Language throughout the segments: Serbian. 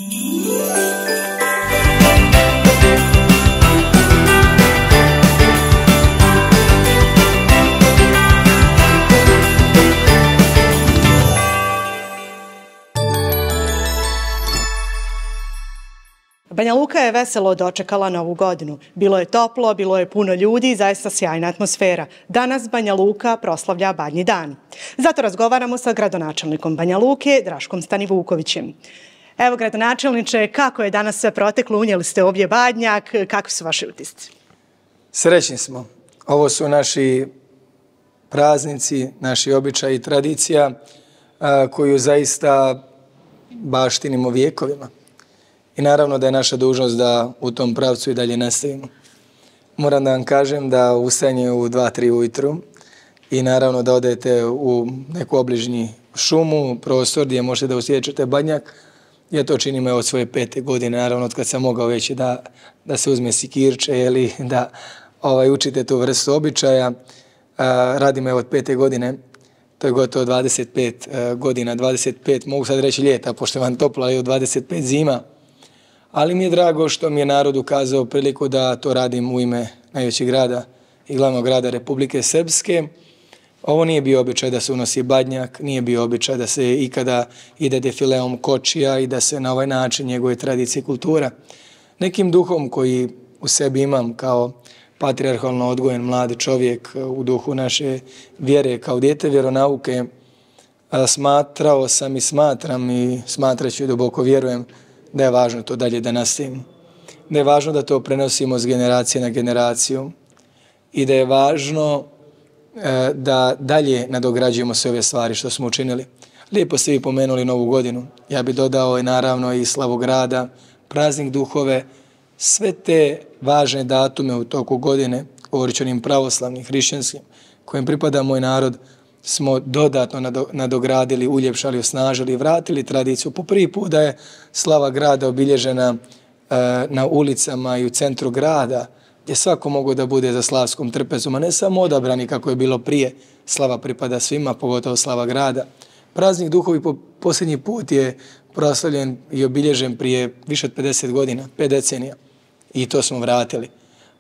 Banja Luka je veselo dočekala Novu godinu. Bilo je toplo, bilo je puno ljudi i zaista sjajna atmosfera. Danas Banja Luka proslavlja Badnji dan. Zato razgovaramo sa gradonačelnikom Banja Luke, Draškom Stanivukovićem. Evo, gradonačelniče, kako je danas sve proteklo? Unijeli ste ovdje badnjak. Kakvi su vaši utisci? Srećni smo. Ovo su naši praznici, naši običaji i tradicija koju zaista baštinimo vijekovima. I naravno da je naša dužnost da u tom pravcu i dalje nastavimo. Moram da vam kažem da ustajanje u 2-3 ujutru i naravno da odete u neku obližnji šumu, prostor gdje možete da osjećate badnjak. Ja to činim od svoje 5. godine, naravno od kad sam mogao već da se uzme sikirče ili da učite tu vrstu običaja. Radim od 5. godine, to je gotovo 25 godina, 25 mogu sad reći ljeta, pošto je vam toplo, ali od 25 zima. Ali mi je drago što mi je narod ukazao priliku da to radim u ime najvećeg grada i glavnog grada Republike Srpske. Ovo nije bio običaj da se unosi badnjak, nije bio običaj da se ikada ide defileom kočija i da se na ovaj način njeguje tradicija i kultura. Nekim duhom koji u sebi imam kao patrijarhalno odgojen mladi čovjek u duhu naše vjere kao dijete vjeronauke, smatrao sam i smatram i smatraću i duboko vjerujem da je važno to dalje da nastavimo. Da je važno da to prenosimo s generacije na generaciju i da je važno da dalje nadograđujemo sve ove stvari što smo učinili. Lijepo ste vi pomenuli Novu godinu. Ja bih dodao i naravno i slavu grada, praznik duhove, sve te važne datume u toku godine, govorit o onim pravoslavnim, hrišćanskim, kojim pripada moj narod, smo dodatno nadogradili, uljepšali, osnažili i vratili tradiciju. Po prvi put da je slava grada obilježena na ulicama i u centru grada, gdje svako mogu da bude za slavskom trpezom, a ne samo odabrani kako je bilo prije. Slava pripada svima, pogotovo slava grada. Praznik duhovi po posljednji put je proslavljen i obilježen prije više od 50 godina, 5 decenija. I to smo vratili.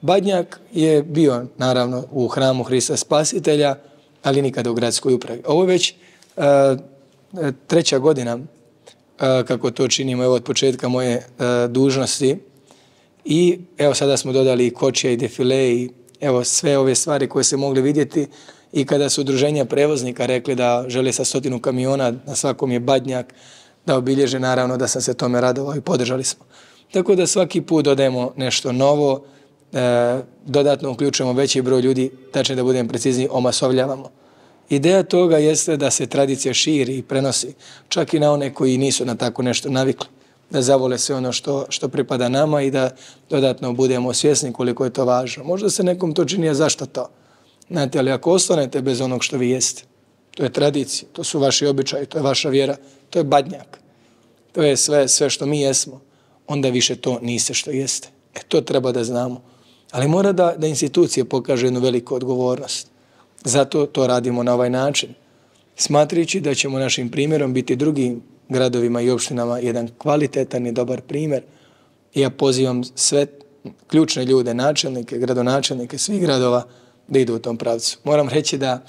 Badnjak je bio, naravno, u hramu Hrista Spasitelja, ali nikada u gradskoj upravi. Ovo je već 3. godina kako to činimo od početka moje dužnosti. I evo sada smo dodali i kočija i defile i evo sve ove stvari koje se mogli vidjeti i kada su udruženja prevoznika rekli da žele sa 100 kamiona, na svakom je badnjak, da obilježe, naravno da sam se tome radovao i podržali smo. Tako da svaki put dodajemo nešto novo, dodatno uključujemo veći broj ljudi, tačnije da budem precizniji, omasovljavamo. Ideja toga jeste da se tradicija širi i prenosi čak i na one koji nisu na tako nešto navikli, da zavole sve ono što pripada nama i da dodatno budemo svjesni koliko je to važno. Možda se nekom to čini, a zašto to? Znate, ali ako ostanete bez onog što vi jeste, to je tradicija, to su vaši običaji, to je vaša vjera, to je badnjak, to je sve što mi jesmo, onda više to niste što jeste. To treba da znamo. Ali mora da institucije pokažu jednu veliku odgovornost. Zato to radimo na ovaj način. Smatrajući da ćemo našim primjerom biti drugim gradovima i opštinama jedan kvalitetan i dobar primjer. Ja pozivam sve ključne ljude, načelnike, gradonačelnike svih gradova da idu u tom pravcu. Moram reći da,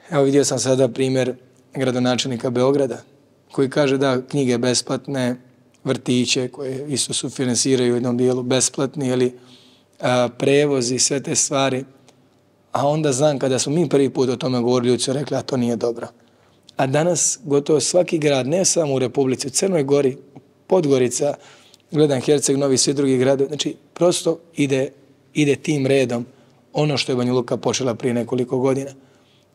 evo vidio sam sada primjer gradonačelnika Beograda koji kaže da knjige besplatne, vrtiće koje isto sufinansiraju u jednom dijelu besplatni ili prevozi, sve te stvari. A onda znam kada smo mi prvi put o tome govorili, ljudi su rekli, a to nije dobro. A danas gotovo svaki grad, ne samo u Republici, u Crnoj Gori, Podgorica, gledam Herceg Novi, svi drugi gradovi, znači prosto ide tim redom ono što je Banja Luka počela prije nekoliko godina.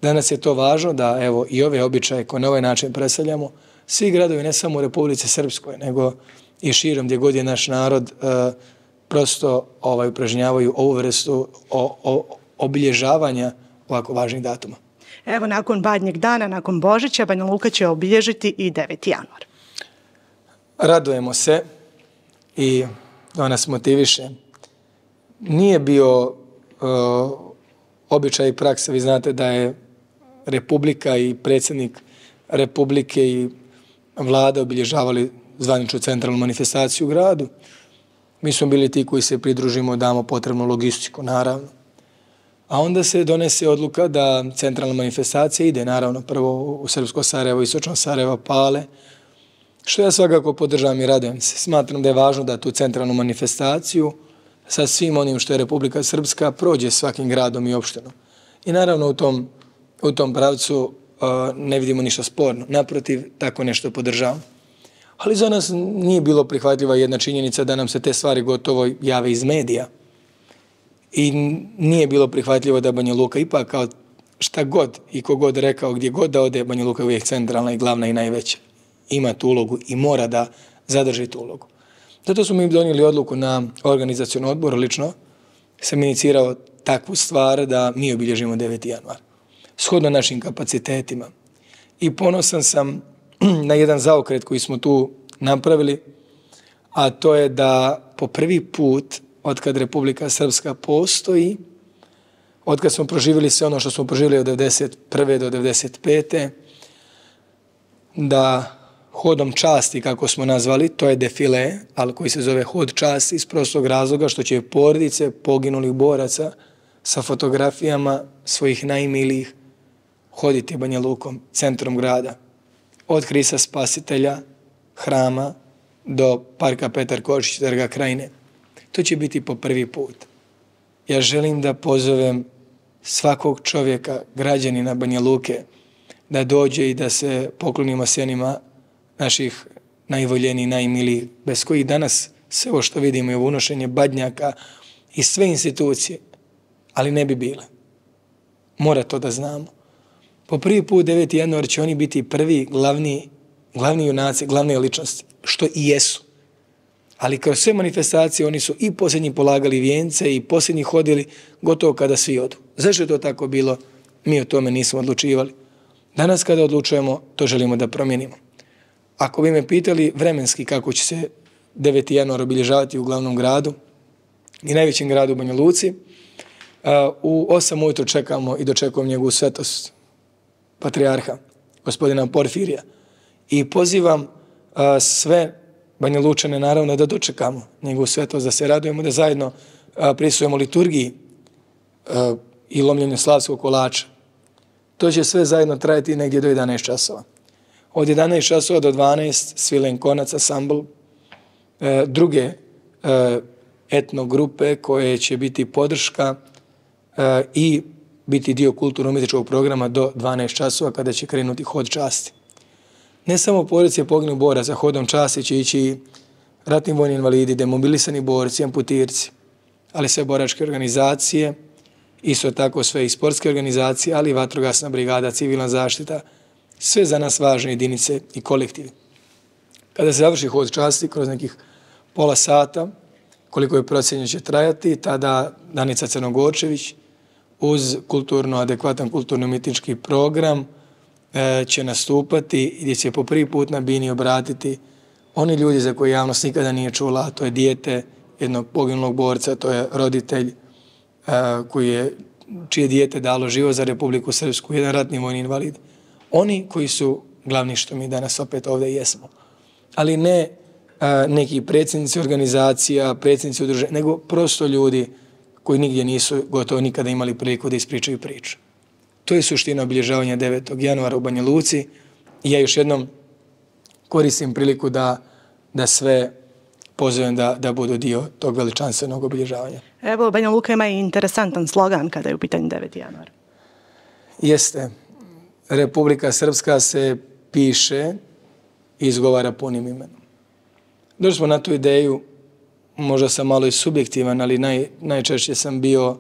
Danas je to važno da evo i ove običaje koje na ovaj način predstavljamo, svi gradovi ne samo u Republici Srpskoj, nego i širom gdje god je naš narod prosto upražnjavaju ovu vrstu obilježavanja ovako važnih datuma. Evo, nakon Badnjeg dana, nakon Božića, Banja Luka će obilježiti i 9. januar. Radujemo se i to nas motiviše. Nije bio običaj i praksa, vi znate da je Republika i predsjednik Republike i vlada obilježavali zvaničnu centralnu manifestaciju u gradu. Mi smo bili ti koji se pridružimo, damo potrebnu logistiku, naravno. A onda se donese odluka da centralna manifestacija ide, naravno, prvo u Srpsko Sarajevo, Istočno Sarajevo, Pale, što ja svakako podržavam i radujem se. Smatram da je važno da tu centralnu manifestaciju sa svim onim što je Republika Srpska prođe svakim gradom i opštinom. I naravno u tom pravcu ne vidimo ništa sporno. Naprotiv, tako nešto podržavamo. Ali za nas nije bilo prihvatljiva jedna činjenica da nam se te stvari gotovo jave iz medija. I nije bilo prihvatljivo da Banja Luka ipak kao šta god i kogod rekao, gdje god da ode, Banja Luka je uvijek centralna i glavna i najveća. Ima tu ulogu i mora da zadrži tu ulogu. Zato smo mi donijeli odluku na organizacioni odbor, lično sam inicirao takvu stvar da mi obilježimo 9. januar. Shodno našim kapacitetima. I ponosan sam na jedan zaokret koji smo tu napravili, a to je da po prvi put otkad Republika Srpska postoji, otkad smo proživjeli sve ono što smo proživjeli od 1991. do 1995. da hodom časti, kako smo nazvali, to je defile, ali koji se zove hod časti iz prostog razloga što će porodice poginulih boraca sa fotografijama svojih najmilijih hoditi Banja Lukom, centrom grada. Od Hrista Spasitelja, hrama, do parka Petar Kočić, Trga Krajine. To će biti po prvi put. Ja želim da pozovem svakog čovjeka, građanina Banja Luke, da dođe i da se poklonimo sjenima naših najvoljenijih, najmilijih, bez kojih danas sve ovo što vidimo je unošenje badnjaka i sve institucije, ali ne bi bile. Mora to da znamo. Po prvi put 9. januar će oni biti prvi glavni junaci, glavne ličnosti, što i jesu. Ali kroz sve manifestacije oni su i posljednji polagali vijence i posljednji hodili gotovo kada svi odu. Zašto je to tako bilo? Mi o tome nismo odlučivali. Danas kada odlučujemo, to želimo da promijenimo. Ako bi me pitali vremenski kako će se 9. januar obilježavati u glavnom gradu i najvećem gradu u Banja Luci, u 8 ujutro čekamo i dočekujemo njegovu svetost, patrijarha, gospodina Porfirija. I pozivam sve Banja Lučane, naravno, da dočekamo njegovu svetost, da se radujemo, da zajedno prisujemo liturgiji i lomljenju slavskog kolača. To će sve zajedno trajati negdje do 11 časova. Od 11 časova do 12 svilen konac, ansambl, druge etno grupe koje će biti podrška i biti dio kulturno-umjetničkog programa do 12 časova kada će krenuti hod časti. Ne samo porodice poginulih boraca, hodom časti će ići ratni vojni invalidi, demobilisani borci, amputirci, ali sve boračke organizacije, isto tako sve i sportske organizacije, ali i vatrogasna brigada, civilna zaštita, sve za nas važne jedinice i kolektivi. Kada se završi hod časti kroz nekih pola sata, koliko je procjenjeno će trajati, tada Danica Crnogorčević uz adekvatan kulturno-umjetnički program će nastupati gdje će po prvi put na bini obratiti oni ljudi za koje javnost nikada nije čula, a to je dijete jednog poginulog borca, to je roditelj čije dijete dalo život za Republiku Srpsku, jedan ratni vojni invalid. Oni koji su glavni što mi danas opet ovdje jesmo. Ali ne neki predsjednici organizacija, predsjednici udruženja, nego prosto ljudi koji nigdje nisu gotovo nikada imali priliku da ispričaju priču. To je suština obilježavanja 9. januara u Banja Luci i ja još jednom koristim priliku da sve pozovem da budu dio tog veličanstvenog obilježavanja. Evo, Banja Luka ima i interesantan slogan kada je u pitanju 9. januar. Jeste. Republika Srpska se piše i izgovara punim imenom. Došli smo na tu ideju, možda sam malo i subjektivan, ali najčešće sam bio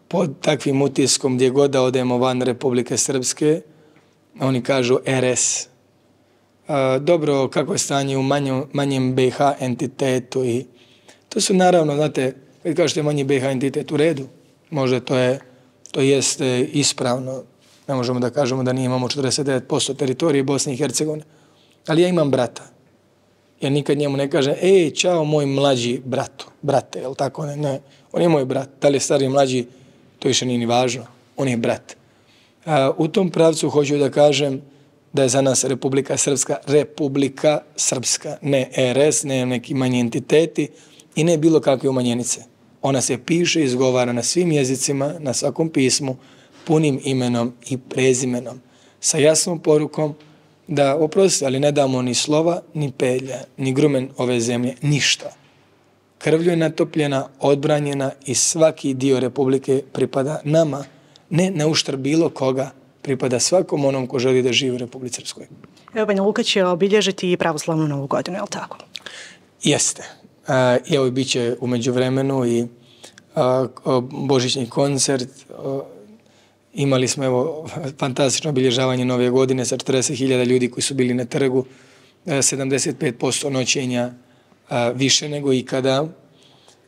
pod takvim utiskom gdje god da odemo van Republike Srpske, oni kažu RS. Dobro, kako je stanje u manjem BiH entitetu i to su naravno, znate, kad kažete manji BiH entitet u redu, možda to jeste ispravno, ne možemo da kažemo da nije imamo 49% teritorije Bosne i Hercegovine, ali ja imam brata. Ja nikad njemu ne kažem, čao moj mlađi brate, jel tako? Ne, on je moj brat, da li je stari mlađi, to više nije ni važno, on je brat. U tom pravcu hoću da kažem da je za nas Republika Srpska, ne RS, ne neki manji entiteti i ne bilo kakve umanjenice. Ona se piše i izgovara na svim jezicima, na svakom pismu, punim imenom i prezimenom, sa jasnom porukom da, oprosti, ali ne damo ni slova, ni pelja, ni grumen ove zemlje, ništa. Krvlju je natopljena, odbranjena i svaki dio Republike pripada nama, ne na uštrb bilo koga, pripada svakom onom ko želi da živi u Republici Srpskoj. Evo, Banja Luka će obilježiti i pravoslavnu novu godinu, je li tako? Jeste. Evo, bit će u međuvremenu i božićni koncert. Imali smo, evo, fantastično obilježavanje nove godine sa 40.000 ljudi koji su bili na trgu, 75% noćenja više nego ikada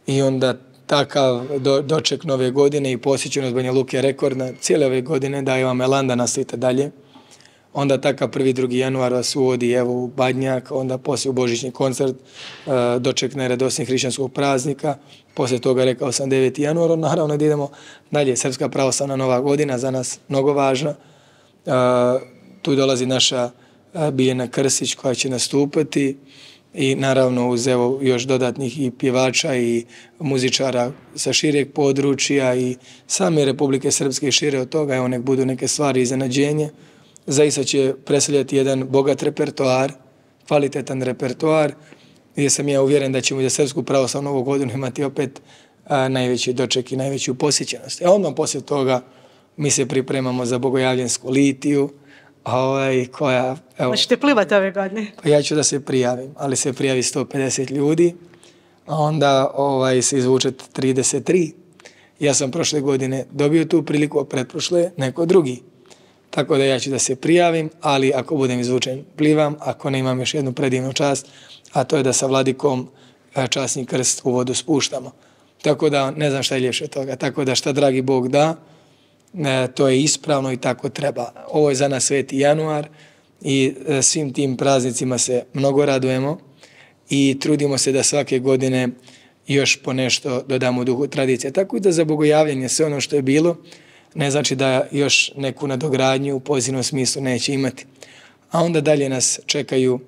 i onda takav doček nove godine i posjećenost Banja Luke je rekordna cijele ove godine, daje vam elan da nastavite dalje. Onda takav 1. 2. januar vas uvodi evo u Badnjak, onda poslije u božićni koncert, doček najradosnijeg hrišćanskog praznika, poslije toga rekao sam 9. januar, naravno da idemo dalje, Srpska pravoslavna nova godina, za nas mnogo važna. Tu dolazi naša Biljana Krstić koja će nastupati i naravno uz evo još dodatnih i pjevača i muzičara sa šireg područja i same Republike Srpske i šire od toga, evo nek budu neke stvari iznenađenje. Zaista će predstavljati jedan bogat repertoar, kvalitetan repertoar, gdje sam ja uvjeren da ćemo za Srpsku pravoslavnu novu godinu imati opet najveći doček i najveću posjećenost. Odmah poslije toga mi se pripremamo za Bogojavljensku litiju, koja... Hoćete plivati ove godine? Pa ja ću da se prijavim, ali se prijavi 150 ljudi, a onda se izvuče 33. Ja sam prošle godine dobio tu priliku, a pretprošle neko drugi. Tako da ja ću da se prijavim, ali ako budem izvučen, plivam, ako ne imam još jednu predivnu čast, a to je da sa vladikom časni krst u vodu spuštamo. Tako da ne znam šta je ljepše od toga. Tako da šta dragi Bog da, to je ispravno i tako treba. Ovo je za nas Sveti januar i svim tim praznicima se mnogo radujemo i trudimo se da svake godine još po nešto dodamo u duhu tradicije. Tako i da za bogojavljanje sve ono što je bilo, ne znači da još neku nadogradnju u pozitivnom smislu neće imati. A onda dalje nas čekaju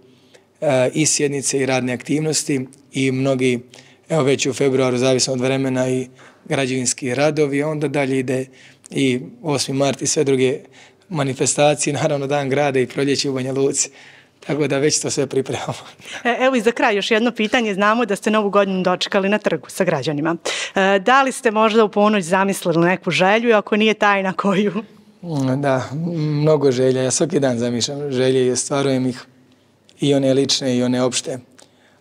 i sjednice i radne aktivnosti i mnogi, evo već u februaru, zavisno od vremena, i građevinski radovi, onda dalje ide i 8. mart i sve druge manifestacije, naravno Dan grada i proljeće u Banja Luci. Tako da već to sve pripremamo. Evo i za kraj još jedno pitanje. Znamo da ste novu godinu dočekali na trgu sa građanima. Da li ste možda u ponoć zamislili neku želju i ako nije tajna, koju? Da, mnogo želja. Ja svaki dan zamišljam želje i ostvarujem ih, i one lične i one opšte.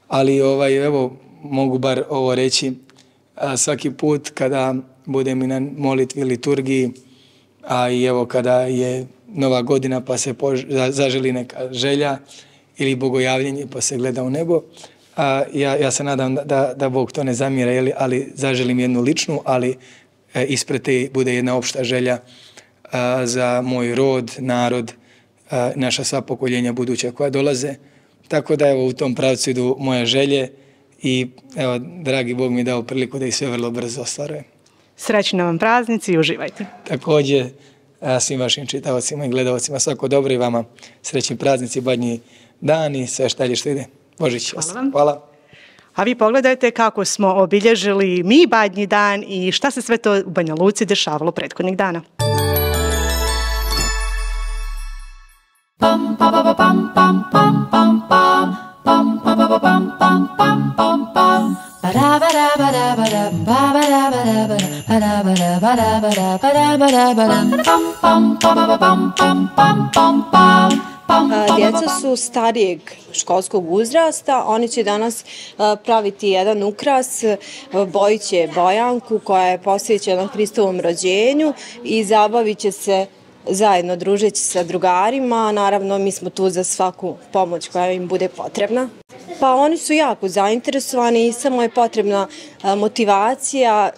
Ali evo mogu bar ovo reći, svaki put kada budem i na molitvi, liturgiji, a i evo kada je nova godina pa se zaželi neka želja ili bogojavljenje pa se gleda u nebo, ja se nadam da Bog to ne zamjera, ali zaželim jednu ličnu, ali ispred te bude jedna opšta želja za moj rod, narod, naša sva pokoljenja buduća koja dolaze. Tako da evo u tom pravcu idu moje želje i evo dragi Bog mi dao priliku da ih sve vrlo brzo ostvarujem. Srećni vam praznici i uživajte. Također svim vašim čitavacima i gledalcima svako dobro i vama srećni praznici, Badnji dan i sve što ide. Božić. Hvala vam. Hvala. A vi pogledajte kako smo obilježili mi Badnji dan i šta se sve to u Banja Luci dešavalo prethodnih dana. Djeca su starijeg školskog uzrasta, oni će danas praviti jedan ukras, bojit će bojanku koja je posvećena Hristovom rođenju i zabavit će se zajedno družeći sa drugarima. Naravno, mi smo tu za svaku pomoć koja im bude potrebna. Pa oni su jako zainteresovani i samo je potrebna motivacija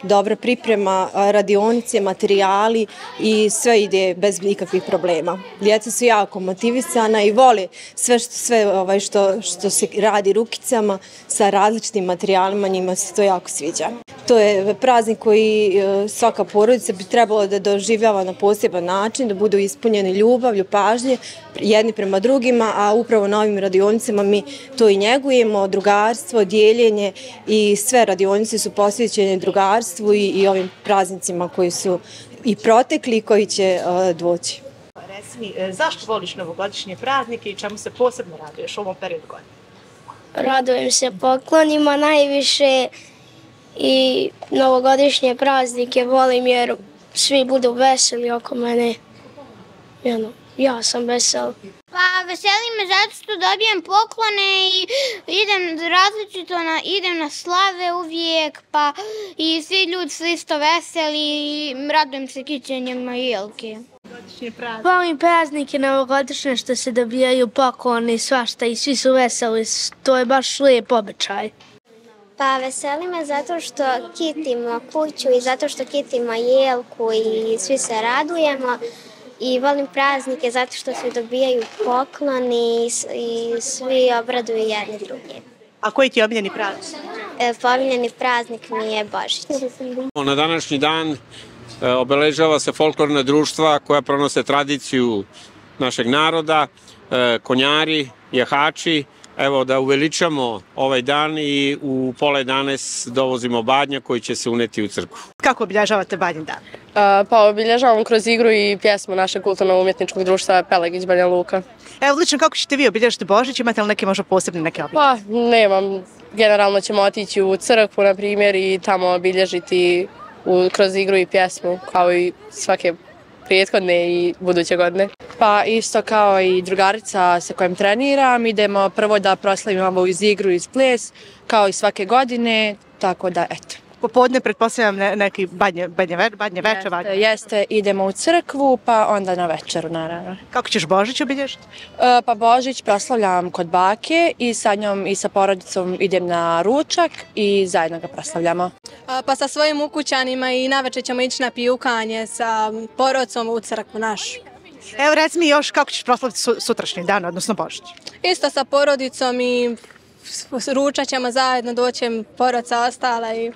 dobra priprema, radionice, materijali i sve ide bez ikakvih problema. Djeca su jako motivisana i vole sve što se radi rukicama sa različitim materijalima, njima se to jako sviđa. To je praznik koji svaka porodica bi trebalo da doživljava na poseban način, da budu ispunjeni ljubavlju, pažnje jedni prema drugima, a upravo na ovim radionicama mi to i njegujemo, drugarstvo, dijeljenje i sve radionice su posvećene drugarstvu i ovim praznicima koji su i protekli i koji će doći. Reci mi, zašto voliš novogodišnje praznike i čemu se posebno raduješ u ovom periodu godine? Radujem se poklonima najviše i novogodišnje praznike volim jer svi budu veseli oko mene. Ja sam vesel. Pa veseli me zato što dobijem poklone i idem različito, idem na slave uvijek, pa i svi ljudi su isto veseli i radujem se kićenjima i jelke. Volim praznike novogodišnje što se dobijaju pokloni, svašta i svi su veseli, to je baš lijep običaj. Pa veseli me zato što kitimo kuću i zato što kitimo jelku i svi se radujemo. I volim praznike zato što se dobijaju pokloni i svi obraduju jedni drugi. A koji ti je omiljeni praznik? Omiljeni praznik mi je Božić. Na današnji dan obeležava se folklorna društva koja pronose tradiciju našeg naroda, konjari, jahači. Evo da uveličamo ovaj dan i u pola 11 dovozimo badnja koji će se uneti u crkvu. Kako obilježavate Badnji dan? Pa obilježavamo kroz igru i pjesmu našeg kulturno-umjetničkog društva Pelegić Banja Luka. Evo, lično kako ćete vi obilježiti Božić? Imate li neke možda posebne neke obilježbe? Pa nemam. Generalno ćemo otići u crkvu, na primjer, i tamo obilježiti kroz igru i pjesmu, kao i svake prethodne i buduće godine. Pa isto kao i drugarica sa kojom treniram, idemo prvo da proslavimo uz igru i ples, kao i svake godine, tako da eto. Popodne pretpostavljam neki badnje večer. Jeste, idemo u crkvu, pa onda na večeru, naravno. Kako ćeš Božić obilježiti? Pa Božić proslavljam kod bake i sa njom i sa porodicom idem na ručak i zajedno ga proslavljamo. Pa sa svojim ukućanima i navečer ćemo ići na pijukanje sa porodicom u crkvu našu. Evo, reci mi još kako ćeš proslaviti sutrašnji dan, odnosno Božić? Isto sa porodicom i ručat ćemo zajedno, doćem porodica ostala i...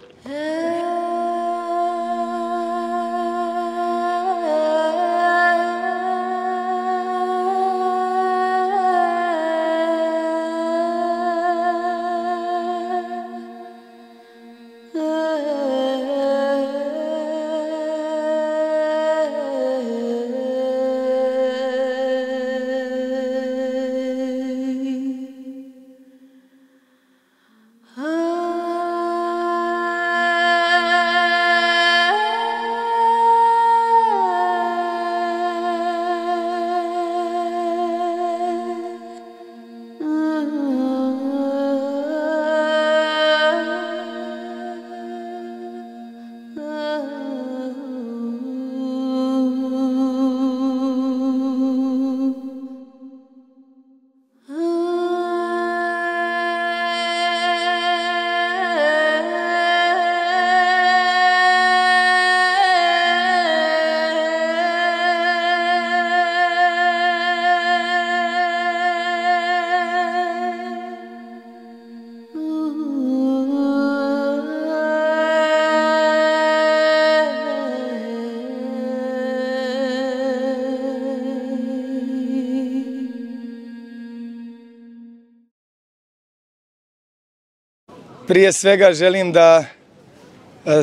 Prije svega želim da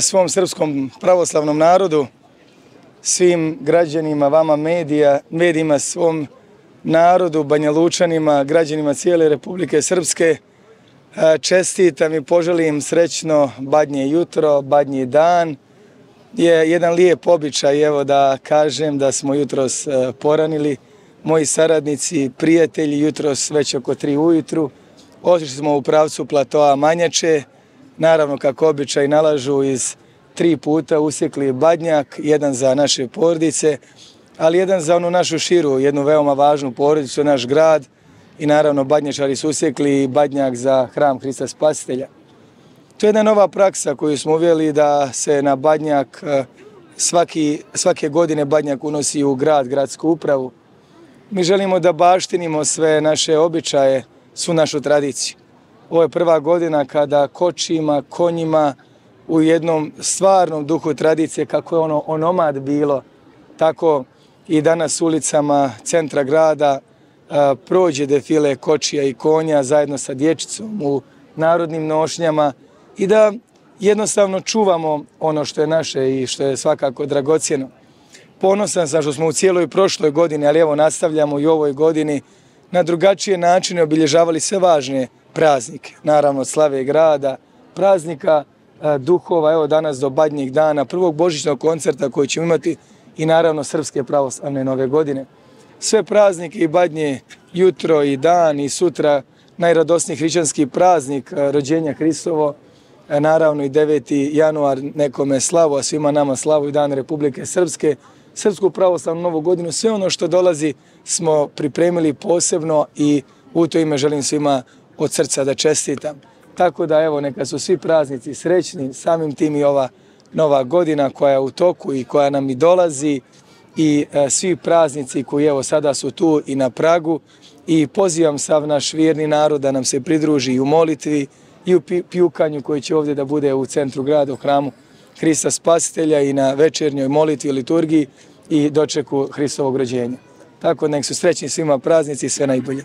svom srpskom pravoslavnom narodu, svim građanima, vama medijima, svom narodu, Banjalučanima, građanima cijele Republike Srpske čestitam i poželim srećno Badnje jutro, Badnji dan. Je jedan lijep običaj, evo da kažem da smo jutros poranili, moji saradnici, prijatelji, jutros već oko 3 ujutru. Otišli smo u pravcu platoa Manjače, naravno kako običaj nalažu iz 3 puta usjekli badnjak, jedan za naše porodice, ali jedan za onu našu širu, jednu veoma važnu porodicu, naš grad i naravno badnjačari su usjekli badnjak za hram Hrista Spasitelja. To je jedna nova praksa koju smo uveli da se na Badnjak svake godine Badnjak unosi u grad, gradsku upravu. Mi želimo da baštinimo sve naše običaje, svu našu tradiciju. Ovo je prva godina kada kočima, konjima u jednom stvarnom duhu tradicije, kako je ono onomad bilo, tako i danas ulicama centra grada prođe defile kočija i konja zajedno sa dječicom u narodnim nošnjama i da jednostavno čuvamo ono što je naše i što je svakako dragocjeno. Ponosan sam što smo u cijeloj prošloj godini, ali evo nastavljamo i u ovoj godini, na drugačije načine obilježavali sve važne praznike. Naravno slave grada, praznika duhova, evo danas do Badnjeg dana, prvog božićnog koncerta koji ćemo imati i naravno Srpske pravoslavne nove godine. Sve praznike i Badnje, jutro i dan i sutra, najradosniji hrišćanski praznik rođenja Hristovo, naravno i 9. januar nekome slavu, a svima nama slavu i dan Republike Srpske, Srpsku pravoslavnu novu godinu, sve ono što dolazi smo pripremili posebno i u to ime želim svima od srca da čestitam. Tako da evo neka su svi praznici srećni, samim tim i ova nova godina koja je u toku i koja nam i dolazi i svi praznici koji evo sada su tu i na pragu i pozivam sav naš vjerni narod da nam se pridruži i u molitvi i u pijukanju koji će ovdje da bude u centru grada u hramu Hrista Spasitelja i na večernjoj molitvi i liturgiji i dočeku Hristovog rođenja. Tako nek su srećni svima praznici i sve najbolje.